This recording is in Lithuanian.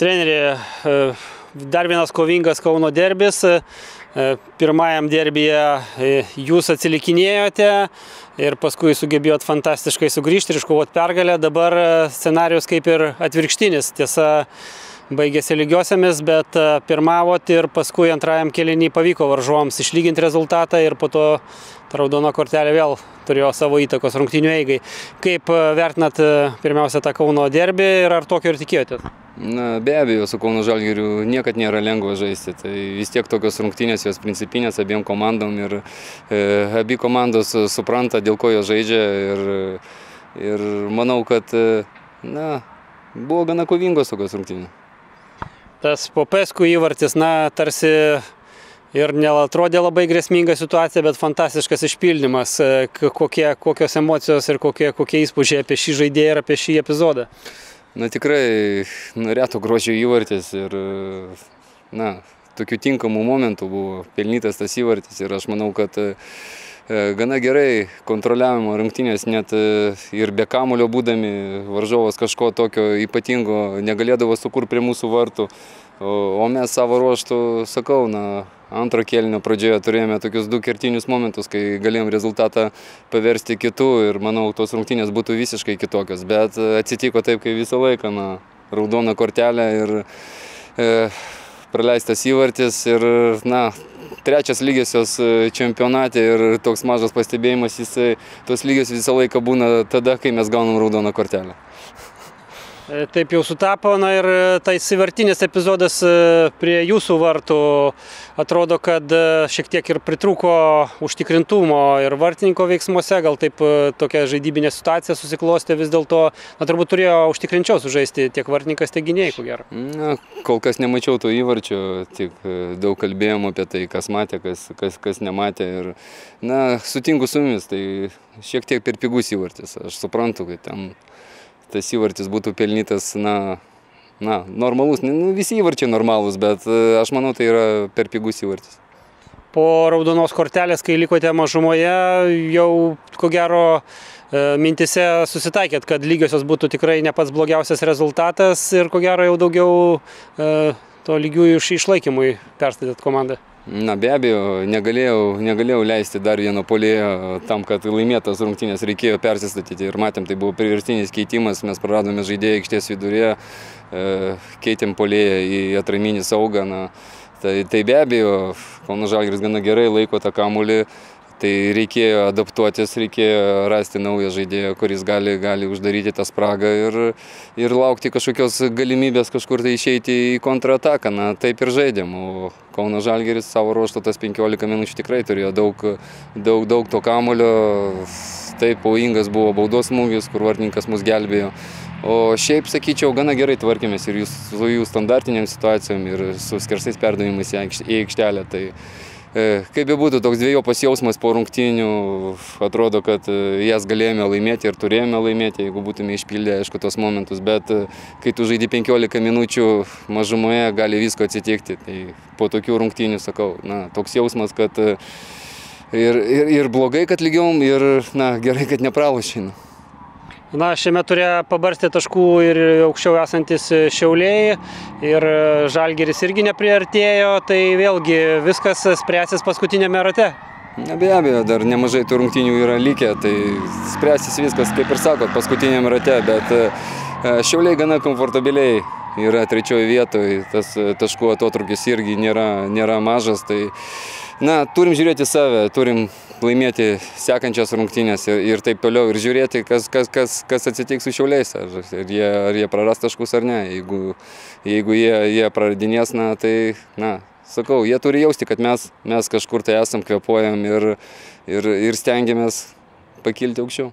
Treneri, dar vienas kovingas Kauno derbis. Pirmajam derbyje jūs atsilikinėjote ir paskui sugebėjot fantastiškai sugrįžti ir iškovoti pergalę. Dabar scenarius kaip ir atvirkštinis. Tiesa, baigėsi lygiosiamis, bet pirmavot ir paskui antrajam kėliny pavyko varžovams išlyginti rezultatą ir po to ta raudona kortelė vėl turėjo savo įtakos rungtynių eigai. Kaip vertinat pirmiausia tą Kauno derbį ir ar tokio ir tikėjotės? Na, be abejo, su Kauno Žalgiriu niekad nėra lengva žaisti. Tai vis tiek tokios rungtynės, jos principinės abiem komandom ir abi komandos supranta, dėl ko jos žaidžia ir manau, kad buvo gana kovingos tokios rungtynės. Tas Popescu įvartis, tarsi ir neatrodė labai grėsminga situacija, bet fantastiškas išpildymas. Kokios emocijos ir kokie įspūdžiai apie šį žaidėją ir apie šį epizodą? Tikrai reto grožio įvartis ir tokių tinkamų momentų buvo pelnytas tas įvartis ir aš manau, kad gana gerai kontroliavimo rungtynės, net ir be kamuolio būdami varžovas kažko tokio ypatingo negalėdavo sukurti prie mūsų vartų, o mes savo ruoštų, sakau, antro kėlinio pradžioje turėjome tokius du kertinius momentus, kai galėjom rezultatą paversti kitų ir manau, tos rungtynės būtų visiškai kitokios, bet atsitiko taip, kai visą laiką, raudona kortelė ir praleistas įvartis ir, trečias lygiosios čempionate ir toks mažas pastebėjimas, tos lygios visą laiką būna tada, kai mes gaunam raudoną kortelę. Taip jau sutapo, ir tais įvartinis epizodas prie jūsų vartų atrodo, kad šiek tiek ir pritrūko užtikrintumo ir vartininko veiksmuose, gal taip tokia žaidybinė situacija susiklostė vis dėlto, turbūt turėjo užtikrinčiau sužaisti tiek vartininkas, tiek gynėjai, ko gero. Kol kas nemačiau to įvarčio, tik daug kalbėjom apie tai, kas matė, kas nematė ir, sutinku su jumis, tai šiek tiek per pigus įvartis, aš suprantu, kad ten tas įvartis būtų pelnytas, normalus, visi įvarčiai normalūs, bet aš manau, tai yra per pigus įvartis. Po raudonos kortelės, kai likote mažumoje, jau ko gero mintise susitaikėt, kad lygiosios būtų tikrai ne pats blogiausias rezultatas ir ko gero jau daugiau to lygiųjų išlaikymui perstatėt komandą. Be abejo, negalėjau leisti dar vieno puolėjo tam, kad laimėtas rungtynės reikėjo persistatyti ir matėm, tai buvo priverstinis keitimas, mes praradome žaidėją aikštės vidurėje, keitėm puolėją į atraminį saugą, tai be abejo, Kauno Žalgiris gana gerai laiko tą kamuolį, tai reikėjo adaptuotis, reikėjo rasti naują žaidėją, kuris gali uždaryti tą spragą ir laukti kažkokios galimybės kažkur tai išeiti į kontrataką. Taip ir žaidėm, o Kauno Žalgiris savo ruožtu tas 15 minučių tikrai turėjo daug to kamuolio. Taip, pavojingas buvo baudos smūgis, kur vartininkas mus gelbėjo. O šiaip, sakyčiau, gana gerai tvarkėmės ir su jų standartiniam situacijom ir su skersais perdavimais į aikštelę. Tai kaip bebūtų, toks dvejopas jausmas po rungtynių, atrodo, kad jas galėjome laimėti ir turėjome laimėti, jeigu būtume išpildę, aišku, tos momentus, bet kai tu žaidi 15 minučių mažumoje, gali visko atsitikti. Tai po tokių rungtynių, sakau, toks jausmas, kad ir blogai, kad lygiom, ir gerai, kad nepralošėm. Šiame ture pabarstė taškų ir aukščiau esantis Šiauliai ir Žalgiris irgi nepriartėjo, tai vėlgi viskas spręsis paskutinėme rate. Be abejo, dar nemažai tų rungtynių yra likę, tai spręsis viskas, kaip ir sakot, paskutinėme rate, bet Šiauliai gana komfortabiliai yra trečioje vietoje, tas taškų atotrūkis irgi nėra mažas, tai turim žiūrėti save, turim laimėti sekančias rungtynės ir taip toliau ir žiūrėti, kas atsitiks su Šiauliais, ar jie praras taškus ar ne. Jeigu jie praradinės, tai, sakau, jie turi jausti, kad mes kažkur tai esam, kvėpuojam ir stengiamės pakilti aukščiau.